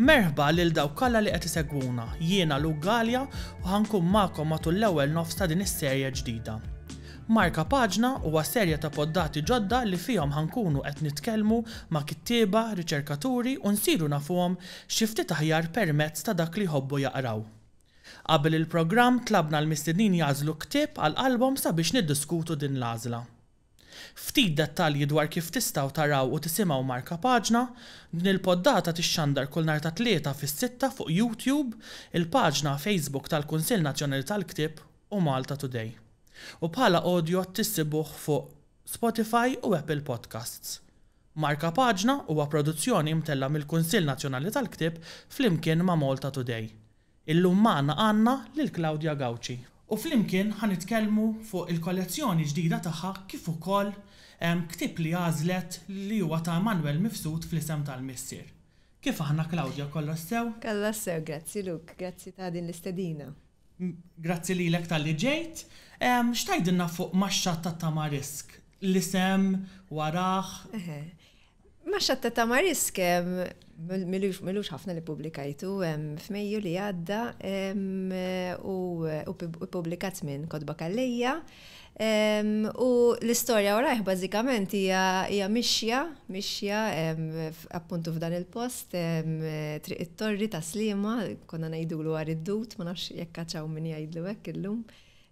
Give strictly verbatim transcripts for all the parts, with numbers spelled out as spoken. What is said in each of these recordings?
Merħba lil dawk kollha li qed isegwuna. Jiena Luke Galea u ħa nkun magħkom matul l-ewwel nofs ta' din is-serje ġdida. Marka Paġna huwa serje ta' poddati ġodda li fihom ħa nkunu qed nitkellmu ma' kittieba, riċerkaturi u nsiru nafuhom xi ftit aħjar permezz ta' dak li jħobbu jaqraw. Qabel il-programm tlabna l-mistednin jagħżlu ktieb għal qalbhom sabiex niddiskutu din l-għażla. Ftit dettalji dwar kif tistgħu taraw u tisimgħu Marka Paġna, din il-poddata tixxandar kull nhar ta' Tlieta fis-sitta fuq YouTube, il-paġna Facebook tal-Kunsill Nazzjonali tal-Ktieb u Malta Today. U bħala audio tissibuh fuq Spotify u Apple Podcasts. Marka Paġna huwa produzzjoni mtella mill-Kunsill Nazzjonali tal-Ktieb flimkien ma' Malta Today. Illum magħna għandna lil Claudia Gauci. U flimkien ħa nitkellmu fuq il-kollezzjoni ġdida tagħha kif ukoll ktieb li għażlet li huwa ta' Immanuel Mifsud fl-isem tal-missier. Kif aħna Claudia kollox sew? Kollox sew, grazzi Luke, grazzi ta' din l-istedina. Grazzi lilek talli ġejt. X'tgħidilna fuq Max-Xatt ta' Tamarisk? L-isem warah? Max-Xatt ta' Tamarisk m'ilux ħafna li ppubblikajtu f'Mejju li għadda u ppubblikat minn Kotba Calleja. U l-istorja warajh bażikament hija mixja, mixja appuntu f'dan il-post, Triq it-Torri ta' Sliema, konna ngħidulu Għar id-Dud, ma nafx jekk hawn min jgħidlu hekk illum.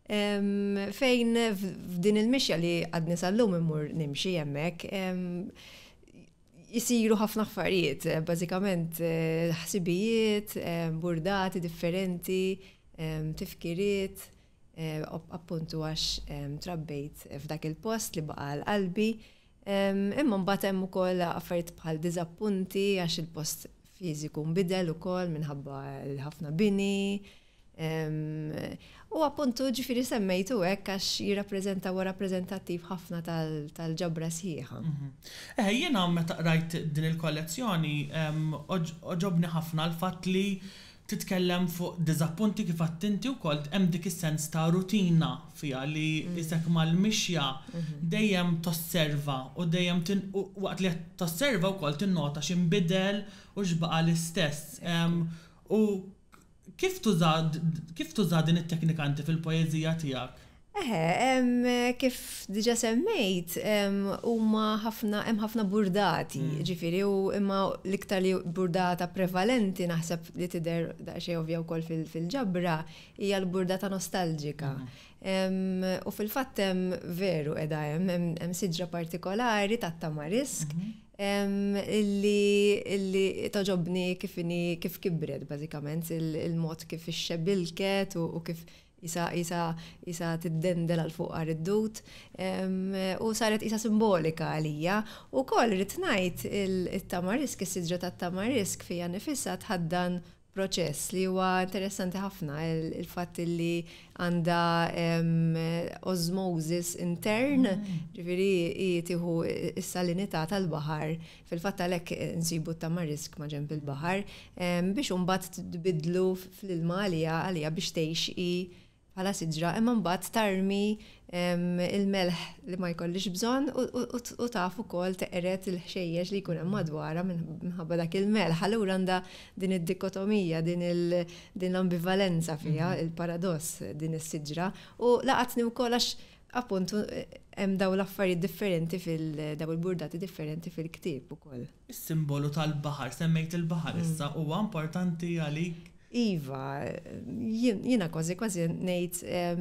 Fejn f'din il-mixja li għadni sal-lum immur nimxi hemmhekk, jisiru ħafna affarijiet, bażikament ħsibijiet, burdati differenti, tifkiriet, appuntu għax trabbejt f'dak il-post li baqa' għal qalbi. Imma mbagħad hemm ukoll affarijiet bħal diżappunti għax il-post fiżiku nbidel ukoll minħabba l-ħafna bini. U appuntu ġifieri semmejtu hekk għax jirrappreżenta huwa rappreżentattiv ħafna tal-ġabra sħiħa. Eh, jiena meta qrajt din il-kollezzjoni għoġobni ħafna l-fatt li titkellem fuq diżappunti kif għedt inti wkoll hemm dik is-sens ta' rutina fiha li isek mal-mixja dejjem tosserva u dejjem waqt li tosserva wkoll tinnota x'inbidel u x'baqa' l-istess. U kif tuża kif tuża din it-teknika inti fil-poeżija tiegħek? Eħe, kif diġa semmejt, huma ħafna hemm ħafna burdati, ġifieri u imma l-iktar li burdata prevalenti naħseb li tidher daqsxejn ovvja wkoll fil-ġabra hija l-burdata nostalġika. U fil-fatt hemm veru qiegħda hemm hemm siġra partikolari tat-tamarisk illi illi togħġobni kif inhi kif kibret bażikament il-mod kif ixxebilket u kif isa isa isa tiddendel għal fuq Għar id-Dud u saret isa simbolika għalija. U koll rrid ngħid il-tamarisk, is-siġra tat-tamarisk fija nifisha tħaddan proċess li huwa interessanti ħafna il-fatt li għandha osmosis intern, ġifieri tieħu is-salinità tal-baħar, fil-fatt għalhekk nsibu t-tamarisk ma' ġenb il-baħar, biex imbagħad tbidlu fl-ilma għalija għalija biex tgħix i bħala siġra, imma mbagħad tarmi il-melħ li ma jkollix bżonn u taf ukoll teqret il-ħxejjex li jkun hemm madwarha minħabba dak il-melħ. Allura għandha din id-dikotomija, din l-ambivalenza fiha, il-paradoss din is-siġra. U laqatni wkoll għax appuntu hemm daw l-affarijiet differenti fil daw il-burdati differenti fil-ktieb ukoll. Is-simbolu tal-baħar, semmejt il-baħar issa, huwa importanti għalik? Iva, jiena kważi kważi ngħid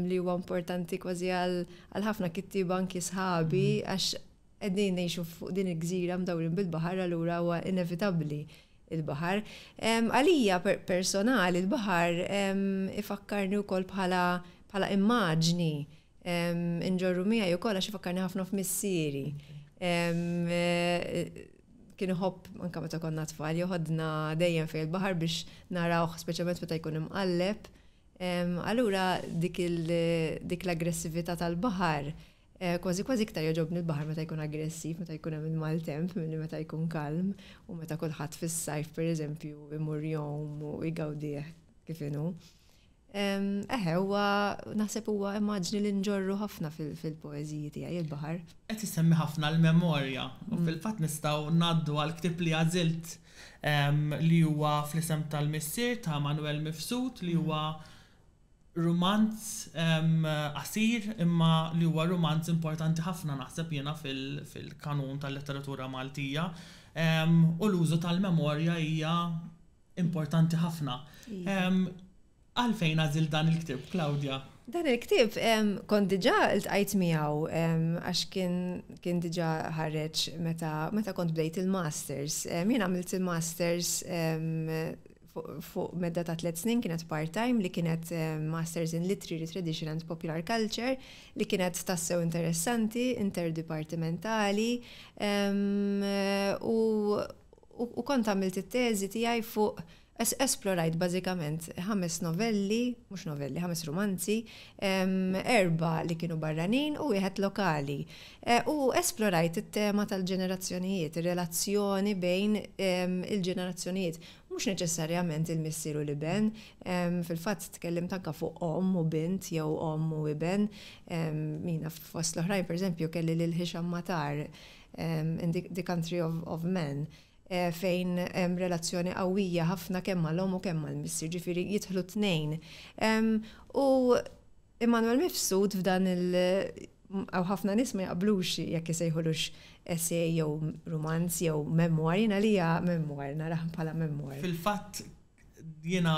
li huwa importanti kważi għal ħafna kittieba anki sħabi għax qegħdin ngħixu fuq din il-gżira mdawrin bil-baħar allura huwa inevitabbli il-baħar. Għalija personali il-baħar ifakkarni wkoll bħala bħala immaġni inġorru miegħi wkoll għax ifakkarni ħafna f'missieri. Kien iħobb anke meta konna tfal joħodna dejjem fejn il-baħar biex narawh speċjalment meta jkun imqalleb. Allura dik dik l-aggressività tal-baħar kważi kważi iktar jogħġobni l-baħar meta jkun aggressiv, meta jkun hemm il-maltemp milli meta jkun kalm u meta kulħadd fis-sajf pereżempju imur jgħum u jgawdih kif inhu. Eħe, huwa naħseb huwa immaġni li nġorru ħafna fil-poeżiji tiegħi il-baħar. Qed issemmi ħafna l-memorja u mm. fil-fatt nistgħu ngħaddu għal ktieb li għażilt li huwa Fl-Isem tal-Missier ta' Manuel Mifsud, li huwa rumanz qasir imma li huwa rumanz importanti ħafna, naħseb jiena, fil-kanun tal-letteratura Maltija. U l-użu tal-memorja hija importanti ħafna. Iva. Għalfejn għażilt dan il-ktieb, Claudia? Dan il-ktieb kont diġà iltqajt miegħu għax kien kien diġà ħareġ meta meta kont bdejt il-masters. Jien għamilt il-masters fuq medda ta' tliet snin, kienet part-time, li kienet Masters in Literary Tradition and Popular Culture, li kienet tassew interessanti, interdipartimentali, u, u kont għamilt it-teżi tiegħi fuq, esplorajt bażikament ħames novelli, mhux novelli, ħames romanzi, erba li kienu barranin u wieħed lokali. E, u esplorajt it-tema tal-ġenerazzjonijiet, ir-relazzjoni bejn il-ġenerazzjonijiet. Mhux neċessarjament il-missier u l-iben, fil-fatt tkellimt anka fuq omm u bint jew omm u iben. Mina fost l-oħrajn, per eżempju, kelli lil Hisham Matar in The, the Country of, of Men, Eh, fejn hemm relazzjoni qawwija ħafna kemm mal-omm u kemm mal-missier, ġifieri jidħlu tnejn. U Immanuel Mifsud f'dan il- għaw ħafna nies ma jaqblux jekk isejħulux essay jew romanz jew memoir, jiena li hija memoir, narah bħala memoir. Fil-fatt jiena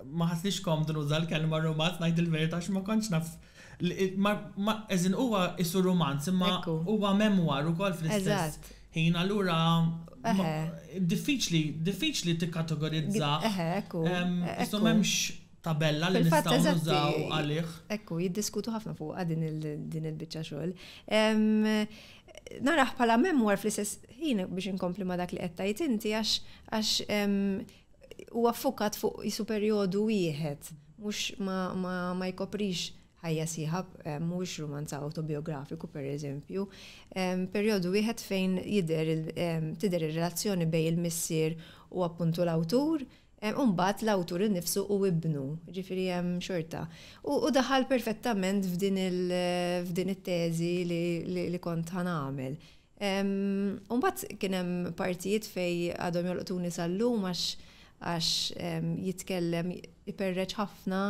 ma ħassnix komdu nuża l-kelma romanz, ngħid il-verità, għax ma kontx naf ma eżin huwa isu romanz imma huwa memoir ukoll fl-istess ħin, allura diffiċli diffiċli tikkategorizza. Eħe, ekku. Isu m'hemmx tabella li nistgħu nużaw għalih. Ekku, jiddiskutu ħafna fuq din il-biċċa xogħol. Narah bħala memoir fl-istess ħin, biex inkompli ma dak li qed tgħid inti, għax għax huwa ffukat fuq isu perjodu wieħed, mhux ma, ma, ma jkoprix ħajja sħiħa, mhux romanza autobiografiku, per eżempju. Perjodu wieħed fejn jidher tidher ir-relazzjoni bejn il-missier u appuntu l-awtur, Umbagħad l-awtur innifsu u ibnu, ġifieri hemm xorta. U daħal perfettament f'din it-teżi li, li kont ħa nagħmel. Umbagħad kien hemm partijiet fejn għadhom jolqtuni sal-lum għax għax jitkellem, iperreċ ħafna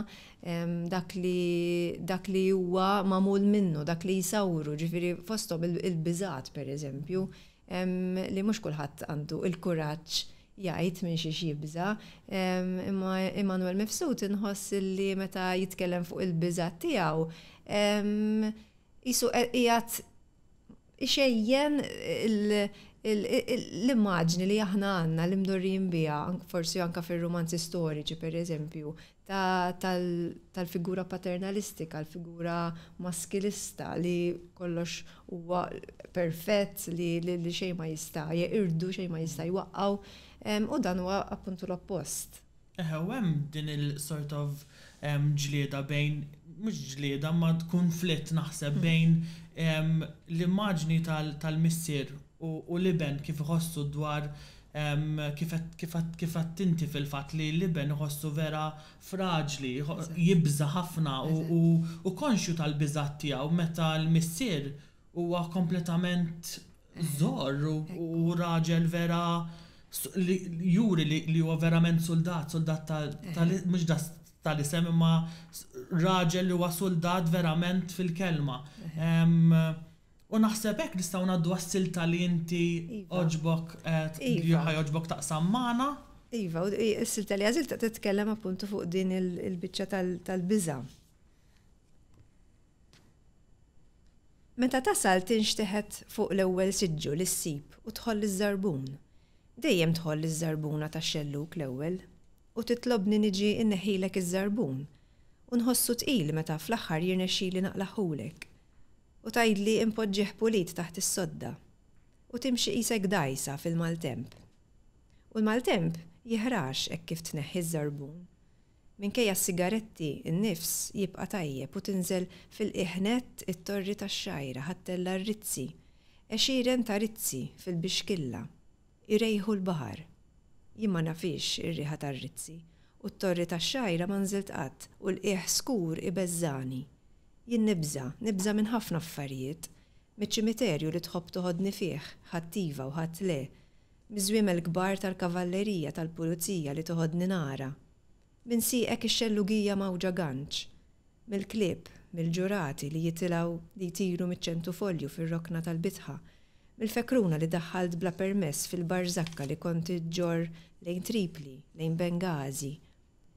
dak li dak li huwa magħmul minnu, dak li jisawru, ġifieri fosthom il-biżat, per eżempju, li mhux kulħadd għandu il-kuraġġ jgħid minn xi jibża. Imma Immanuel Mifsud inħoss li meta jitkellem fuq il-biżat tiegħu jisu qiegħed ixejjen l-immaġni li aħna għandna li mdorrijin biha, forsi anka fil-romanzi storiċi, per eżempju, tal-figura paternalistika, l-figura maskilista li kollox huwa perfett, li li xejn ma jista' jeqirdu, xejn ma jista' jwaqqaw, u dan huwa appuntu l-oppost. Eħe, u hemm din il-sort of ġlieda bejn, mhux ġlieda ma konflitt naħseb, hmm. bejn l-immaġni tal-missier u l-iben, kif iħossu dwar, kif kif inti fil-fatt li l-iben iħossu vera fraġli, jibża ħafna u konxju tal-biżat tiegħu, meta l-missier huwa kompletament żor u raġel vera li juri li huwa verament soldat, soldat tal mhux tal-isem imma raġel li huwa soldat verament fil-kelma. U naħseb hekk nistgħu ngħaddu għas-silta li inti iva. għoġbok eh, li iva. ħa jogħġbok taqsam magħna. Iva, u s-silta li għażilt titkellem appuntu fuq din il-biċċa tal-biża. Meta tasal tinxteħet fuq l-ewwel siġġu li ssib u tħoll iż-żarbun. Dejjem tħoll iż-żarbuna tax-xellug l-ewwel u titlobni niġi inneħħilek iż-żarbun u nħossu tqil meta fl-aħħar jirnexxili naqlaħulek. U tgħidli impoġġih pulit taħt is-sodda. U timxi qisek dgħajsa fil-maltemp. U l-maltemp jiħrax hekk kif tneħħi ż-żarbun. Minkejja s-sigaretti, in-nifs jibqa' tajjeb u tinżel fil-qiegħ nett it-torri tax-xgħajra ħa ttella' r-rizzi. Għexieren ta' rizzi fil-bixkilla. Irejħu l-baħar. Jien ma nafhiex ir-riħa tar-rizzi U t-Torri tax-Xgħajra ma nżilt qatt u l-qiegħ skur ibeżżagħni. Jien nibża', nibża' minn ħafna affarijiet. Miċ-ċimiterju li tħobb toħodni fih, ħadd iva u ħadd le. Miż-żwiemel kbar tal-kavallerija tal-pulizija li toħodni nara. Minn sieqek ix-xellugija mgħawġa ganċ. Mill-klieb, mill-ġurati li jitilgħu li jtiru miċ-ċentufolju fir-rokna tal-bitħa. Mill-fekruna li daħħalt bla permess fil-barżakka li kont iġġorr lejn Tripli, lejn Bengazi.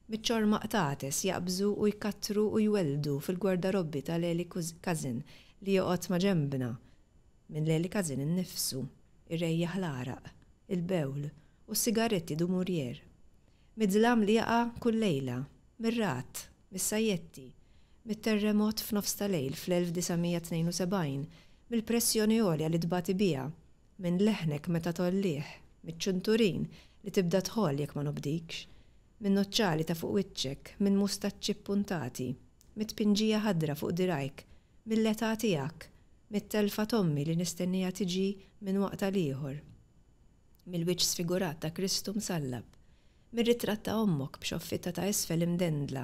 Miċ-ċorma qtates jaqbżu u jkattru u jwelldu fil-gwardarobbi ta' Leli Cousin li joqgħod ma' ġenbna. Minn Leli Cousin innifsu, irejjaħ l-għaraq, il-bewl u s-sigaretti Dumouriez. Mid-dlam li jaqa' kull lejla, mir-ragħad, mis-sajjetti, mit-terremot f'nofs ta' lejl fl-elf disa' mija tnejn u sebgħin, mill-pressjoni għolja li tbati biha, minn leħnek meta tollih, miċ-ċunturin li tibda tħoll jekk ma nobdikx, minn noċċali ta' fuq wiċċek, minn mustaċċi ppuntati, mit-tpinġija ħadra fuq dirajk, mill-età tiegħek, mit-telfa t'ommi li nistennija tiġi minn waqt għal ieħor, mill-wiċċ sfigurat ta' Kristu msallab, mir-ritratt ta' ommok b'xoffitta ta' isfel imdendla,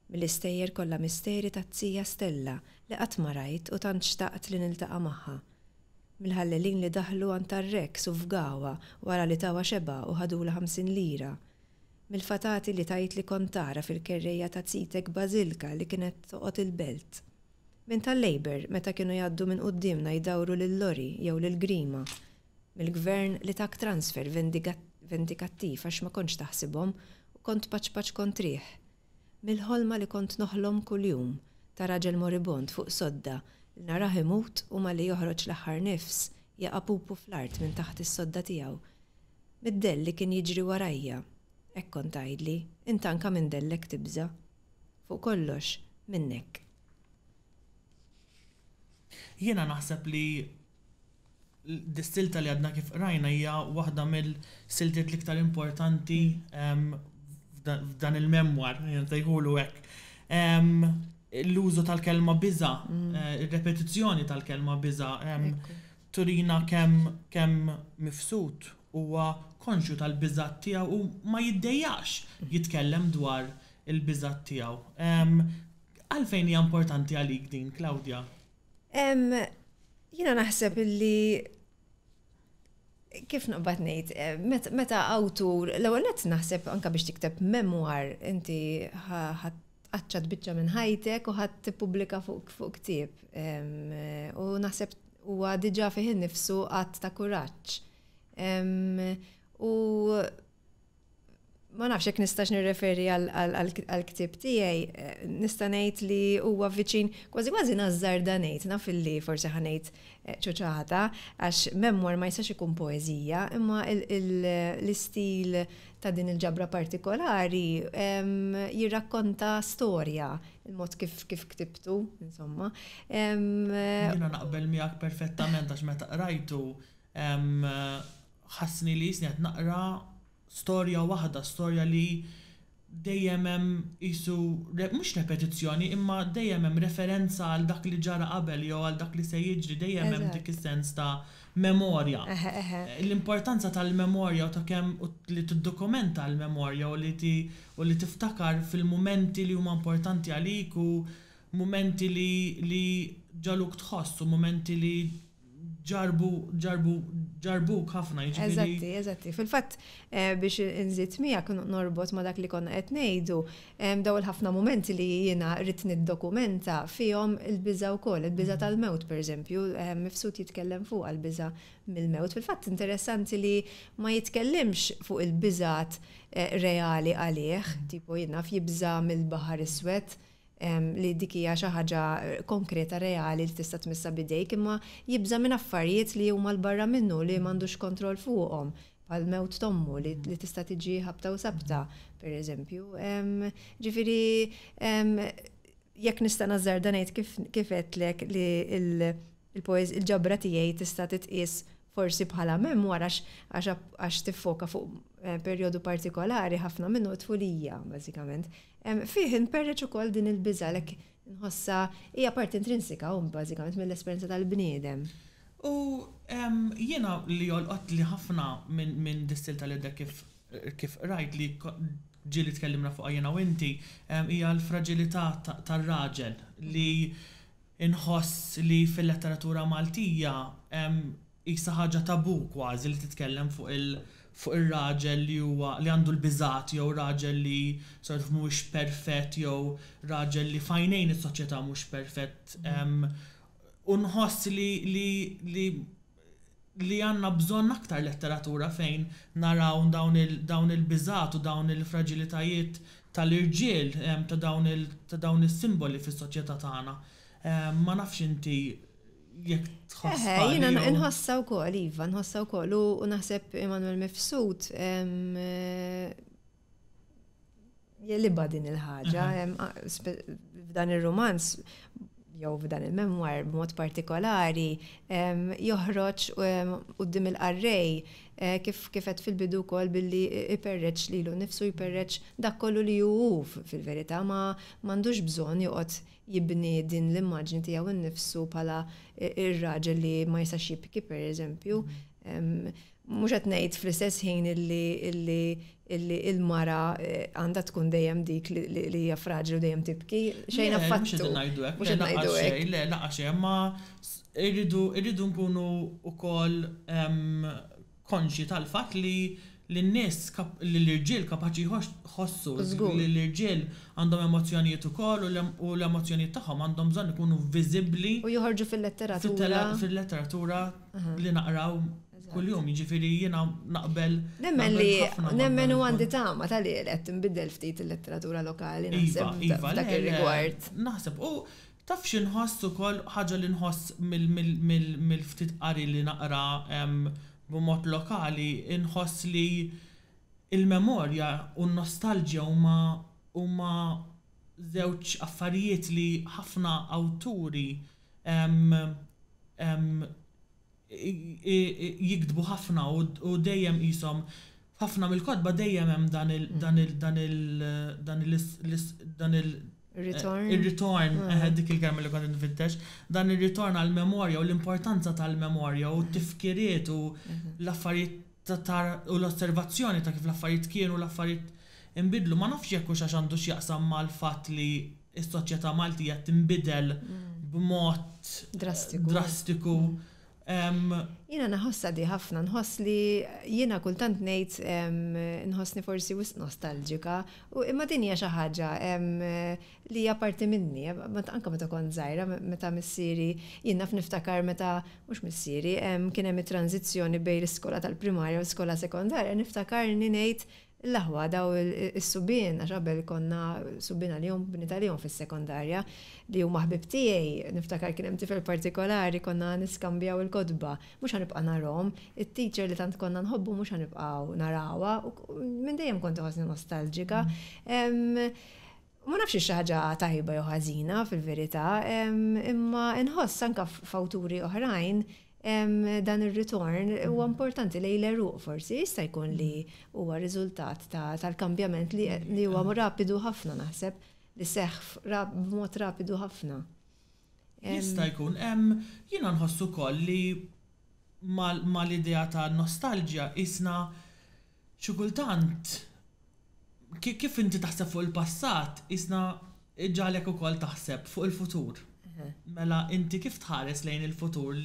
mill-istejjer kollha misteri ta' Zija Stella li qatt ma rajt u tant xtaqt li niltaqa' magħha, mill-ħallelin li daħlu għand tar-Rex u fgawha wara li tawha xeba' u ħadulha ħamsin lira, mill-fatati li tajt li kont tara fil-kerrejja ta' Zitek Bażilka li kienet toqgħod il-belt, minn tal-Labor meta kienu jgħaddu minn quddiemna jdawru lil Lori jew lil Grima, mill-gvern li tak transfer vendikattiv għax ma kontx taħsibhom u kont paċpaċ kontrih, mill-ħolma li kont noħlom kuljum ta' raġel moribond fuq sodda li narah imut u malli joħroġ l-aħħar nifs jaqa' pupu fl-art minn taħt is-sodda tiegħu, mid-dell li kien jiġri warajja, hekk kont tgħidli, int anke minn dellek tibża'. Fuq kollox, minnek. Jiena naħseb li dis-silta li għadna kif qrajna hija waħda mill-siltiet l-iktar importanti f'dan il-memoir, nsejħulu hekk. L-użu tal-kelma biża', ir-repetizzjoni tal-kelma biża', turina kemm kemm Mifsud huwa konxju tal-biża' tiegħu u ma jiddejjaqx jitkellem dwar il-biża' tiegħu. Għalfejn hija importanti għalik din, Claudia? Jiena naħseb illi kif naqbad ngħid, meta awtur, l-ewwel nett naħseb anke biex tikteb memoir inti ħadd tqaċċat biċċa minn ħajtek u ħadd tippubblika fuq fuq ktieb. U naħseb huwa diġà fih innifsu att ta' kuraġġ. U ma nafx jekk nistax nirreferi għal-ktieb tiegħi, nista' ngħid li huwa viċin kważi kważi nażżarda ngħid, naf illi forsi ħa ngħid ċuċata, għax memoir ma jistax ikun poeżija, imma l-istil ta' din il-ġabra partikolari jirrakkonta storja, il-mod kif kif ktibtu, insomma. Jiena naqbel miegħek perfettament għax meta qrajtu ħassni li jisni qed naqra storja waħda, storja li dejjem hemm qisu mhux repetizzjoni, imma dejjem hemm referenza għal dak li ġara qabel jew għal dak li se jiġri, dejjem hemm dik is-sens ta' memorja. L-importanza tal-memorja u ta' kemm li tiddokumenta l-memorja u li u li tiftakar fil-mumenti li huma importanti għalik u mumenti li li ġaluk tħoss u mumenti li ġarbu ġarbu ġarbuk ħafna, jiġifieri. Eżatti, eżatti. Fil-fatt biex inżid miegħek norbot ma' dak li konna qed ngħidu, daw il-ħafna mumenti li jiena rrid niddokumenta fihom il-biża' wkoll, il-biża' tal-mewt pereżempju, Mifsud jitkellem fuq il-biża' mill-mewt. Fil-fatt interessanti li ma jitkellimx fuq il-biżat reali għalih, tipo jien naf jibża' mill-Baħar Iswed, li dik hija xi ħaġa konkreta reali li tista' tmissa bidejk, imma jibża' minn affarijiet li huma 'l barra minnu li m'għandux kontroll fuqhom, bħal mewt t'ommu li tista' tiġi ħabta u sabta, pereżempju. Ġifieri jekk nista' nażżarda ngħid kif għedtlek li il-ġabra tiegħi tista' titqies forsi bħala memoir għax tiffoka fuq perjodu partikolari ħafna minnu tfulija, bażikament. Fih inperreċ ukoll din il-biża' lek nħossa hija parti intrinsika u bażikament mill-esperjenza tal-bniedem. U jiena li jolqot li ħafna minn dis-silta li kif kif rajt li ġieli tkellimna fuq jiena u inti, hija l-fraġilità tar-raġel li inħoss li fil-letteratura Maltija qisha ħaġa tabu kważi li titkellem fuq il- fuq ir-raġel li huwa li għandu l-biżat jew raġel li sort of mhuwiex perfett jew raġel li f'għajnejn is-soċjetà mhux perfett. U nħoss li li li li għandna bżonn aktar letteratura fejn naraw dawn il-biżat u dawn il-fraġilitajiet tal-irġiel, ta' dawn is-simboli fis-soċjetà tagħna. Ma nafx inti jekk tħoss. Jiena nħossha wkoll, iva, nħossha wkoll u naħseb Immanuel Mifsud jegħlibha din il-ħaġa. F'dan ir-rumanz jew f'dan il-memoir b'mod partikolari joħroġ quddiem il-qarrej kif kif qed fil-bidu wkoll billi iperreċ lilu nnifsu, jperreċ dak kollu li hu fil-verità, ma m'għandux bżonn joqgħod jibni din l-immaġni tiegħu nnifsu bħala ir-raġel li ma jistax jibki, pereżempju. Mhux qed ngħid fl-istess ħin illi illi illi il-mara għandha tkun dejjem dik li hija fraġli u dejjem tibki, xejn affattu. Mhux qed ngħidu hekk. Mhux qed ngħidu hekk. Le, laqgħa xejn, ma irridu irridu nkunu wkoll konxji tal-fatt li l-nies, li l-irġiel kapaċi jħossu, li l-irġiel għandhom emozzjonijiet ukoll u l-emozzjonijiet tagħhom għandhom bżonn ikunu viżibbli. U joħorġu fil-letteratura. Fil-letteratura li naqraw kuljum, jiġifieri jiena naqbel. Nemmen li nemmen u għandi tama tal-li qed tinbidel ftit il-letteratura lokali, naħseb, f'dak ir-rigward. Naħseb, u taf xi nħoss ukoll, ħaġa li nħoss mill-ftit qari li naqra b'mod lokali, inħoss li il-memorja u n-nostalġja huma huma żewġ affarijiet li ħafna awturi jiktbu ħafna u dejjem qishom ħafna mill-kotba dejjem hemm dan il dan il dan il dan il dan il Return. Il-ritorn, dik il-kelma li kont nfittex, dan il-ritorn għal-memorja u l-importanza tal-memorja u t-tifkiriet u l-affarijiet u l-osservazzjoni ta' kif l-affarijiet kienu u l-affarijiet inbidlu. Ma nafx jekk hux għax għandu x'jaqsam mal-fatt li s-soċjetà Maltija tinbidel b'mod drastiku. Drastiku. Jiena naħossha di ħafna, nħoss li jiena kultant ngħid nħossni forsi wisq nostalġika, u imma din hija xi ħaġa li hija parti minni, anke meta kont żgħira, meta missieri, jien naf niftakar meta, mhux missieri, kien hemm it-tranżizzjoni bejn l-iskola tal-primarja u l-iskola sekondarja, niftakarni ngħid l-aħwa daw is-subien, għax qabel konna subien għalihom, bniet għalihom fis-sekondarja, li huma ħbib tiegħi, niftakar kien hemm tifel partikolari konna niskambjaw il-kotba, mhux ħanibqa' narhom, it-teacher li tant konna nħobbu mhux ħanibqgħu narawha, u minn dejjem kont inħossni nostalġika. Ma nafx xi ħaġa tajba jew ħażina fil-verità, imma inħoss anke f'awturi oħrajn dan ir-ritorn huwa importanti lejn l-għeruq, forsi jista' jkun li huwa riżultat tal-kambjament li huwa rapidu ħafna, naħseb li seħħ b'mod rapidu ħafna. Jista' jkun. Jiena nħoss ukoll li mal-idea ta' nostalġja qisna xi kultant kif inti taħseb fuq il-passat, qisna iġagħlek ukoll taħseb fuq il-futur. Mela inti kif tħares lejn il-futur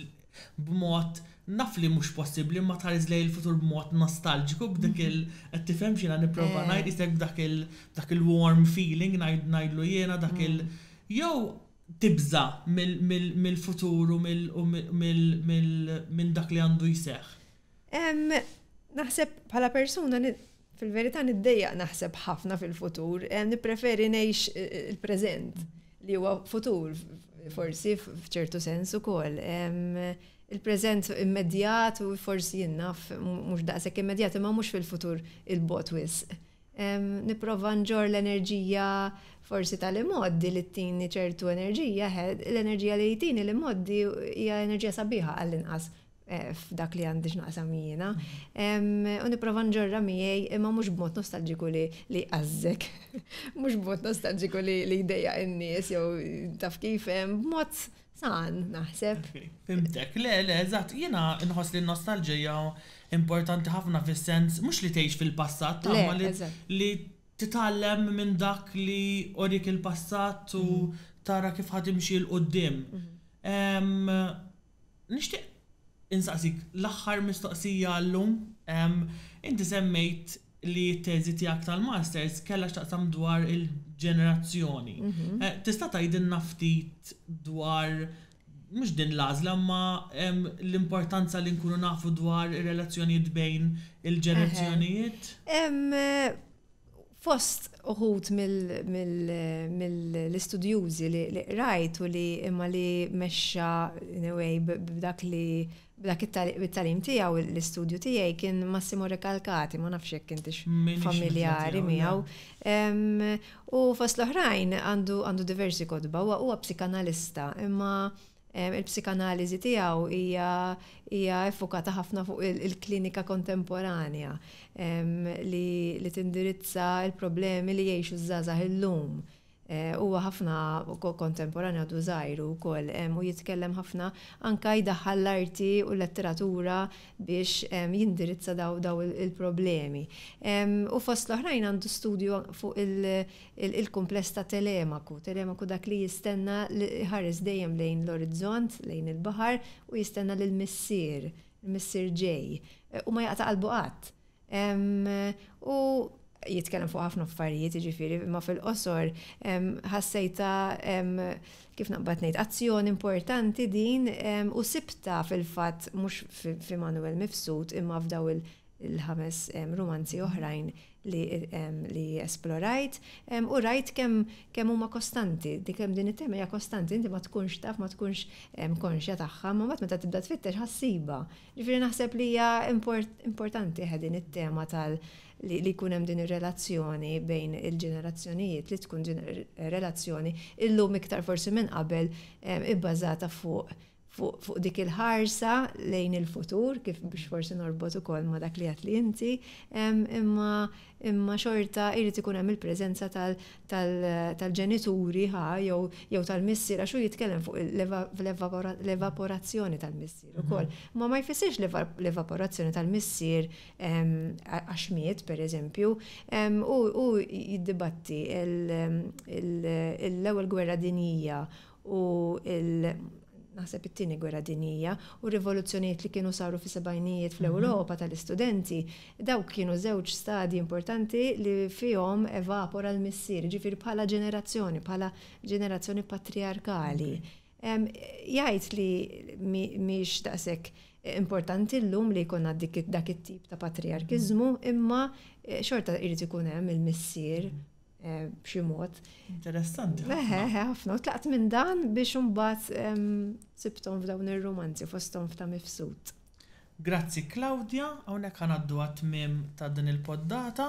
b'mod, naf li mhux possibbli, ma tħares lejn il-futur b'mod nostalġiku, b'dik il qed tifhem x'jiena nipprova ngħid, qisek b'dak il dak il-warm feeling ngħidlu jiena, dak il jew tibża mill-futur u minn dak li għandu jseħħ? Naħseb bħala persuna fil-verità niddejjaq naħseb ħafna fil-futur, nippreferi ngħix il-preżent li huwa futur forsi f'ċertu sens ukoll. Il-preżent immedjat u forsi jien naf mhux daqshekk immedjat imma mhux fil-futur il-bogħod wisq. Nipprova nġorr l-enerġija forsi tal-imgħoddi li ttini ċertu enerġija, l-enerġija li jtini l-imgħoddi hija enerġija sabiħa għall-inqas f'dak li għandi x'naqsam jiena. U nipprova nġorra miegħi imma mhux b'mod nostalġiku li li jqażżek, mhux b'mod nostalġiku li li jdejjaq in-nies jew taf kif, b'mod san naħseb. Fhimtek, le, le, eżatt, jiena nħoss li n-nostalġija importanti ħafna fis-sens mhux li tgħix fil-passat, ma li li titgħallem minn dak li urik il-passat u tara kif ħa timxi 'l quddiem. Nixtieq insaqsik l-aħħar mistoqsija llum. Inti semmejt li t-teżi tiegħek tal-masters kellha x'taqsam dwar il-ġenerazzjoni. Eh, tista' tgħidilna ftit dwar mhux din l-għażla, ma l-importanza li nkunu nafu dwar ir-relazzjonijiet bejn il-ġenerazzjonijiet? Fost uħud mill-istudjużi li rajt u li imma li mexxa in a way b'dak li b'dak it-tagħlim tiegħu l-istudju tiegħi kien Massimo Recalcati, ma nafx jekk intix familjari miegħu. U fost l-oħrajn għandu għandu diversi kotba, huwa psikanalista, imma il-psikanaliżi tiegħu hija hija effokata ħafna fuq il-klinika kontemporanja li, li tindirizza il-problemi li jgħixu żgħażagħ illum. Eh, huwa ħafna kontemporanja, għadu żgħir ukoll u jitkellem ħafna, anka jdaħħal l-arti u l-letteratura biex jindirizza daw, daw il-problemi. U fost l-oħrajn għandu studju fuq il-kumpless ta' Telemaku. Telemaku dak li jistenna, li ħares dejjem lejn l-orizzont, lejn il-baħar, u jistenna l-missier, il-missier ġej, u ma jaqta' qalbu qatt. U jitkellem fuq ħafna affarijiet, jiġifieri, ma fil-qosor ħassejta, kif naqbad ngħid, azzjoni importanti din u sibta fil-fatt mhux fi Manuel Mifsud imma f'daw il-ħames romanzi oħrajn li, li esplorajt u rajt kemm kemm huma kostanti, dik kemm din it-tema hija kostanti, inti ma tkunx taf, ma tkunx konxja tagħha, ma mbagħad meta tibda tfittex ħa ssibha. Ġifieri naħseb li hija importanti din it-tema tal li jkun hemm din ir-relazzjoni bejn il-ġenerazzjonijiet, li tkun relazzjoni illum iktar forsi minn qabel ibbażata fuq fuq dik il-ħarsa lejn il-futur, kif biex forsi norbot ukoll ma dak li għedt li inti, imma imma xorta jrid ikun hemm il-preżenza tal-ġenituri ħa jew jew tal-missier, għax hu jitkellem fuq l-evaporazzjoni tal-missier ukoll. Ma ma jfissirx l-evaporazzjoni tal-missier għax miet, pereżempju, u jiddibatti l-ewwel gwerra dinjija u il- naħseb it-tieni gwerra dinjija u rivoluzzjonijiet li kienu saru fi sebgħinijiet fl-Ewropa tal-istudenti, dawk kienu żewġ stadi importanti li fihom evapora l-missier, ġifieri bħala ġenerazzjoni, bħala ġenerazzjoni patriarkali. Jgħid li mhix daqshekk importanti llum li jkollna dak it-tip ta' patriarkizmu, imma eh, xorta jrid ikun hemm il-missier eh, b'xi mod. Interessanti. Eħe, ħafna. U tlaqt minn dan biex imbagħad sibthom f'dawn ir-romanzi, fosthom f'ta' Mifsud. Grazzi, Claudia, hawnhekk ħa ngħaddu għat-tmiem ta' din il-poddata.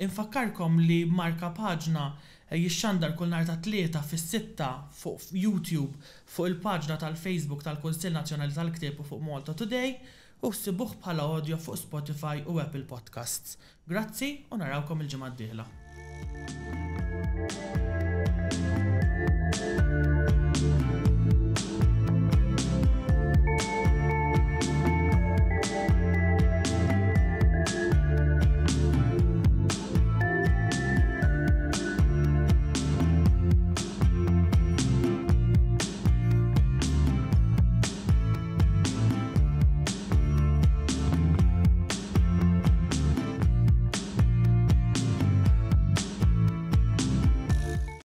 Infakkarkom li Marka Paġna jixxandar kull nhar ta' Tlieta fis-sitta fuq YouTube, fuq il-paġna tal-Facebook tal-Kunsill Nazzjonali tal-Ktieb u fuq Malta Today, u ssibuh bħala audio fuq Spotify u Apple Podcasts. Grazzi u narawkom il-ġimgħa d-dieħla.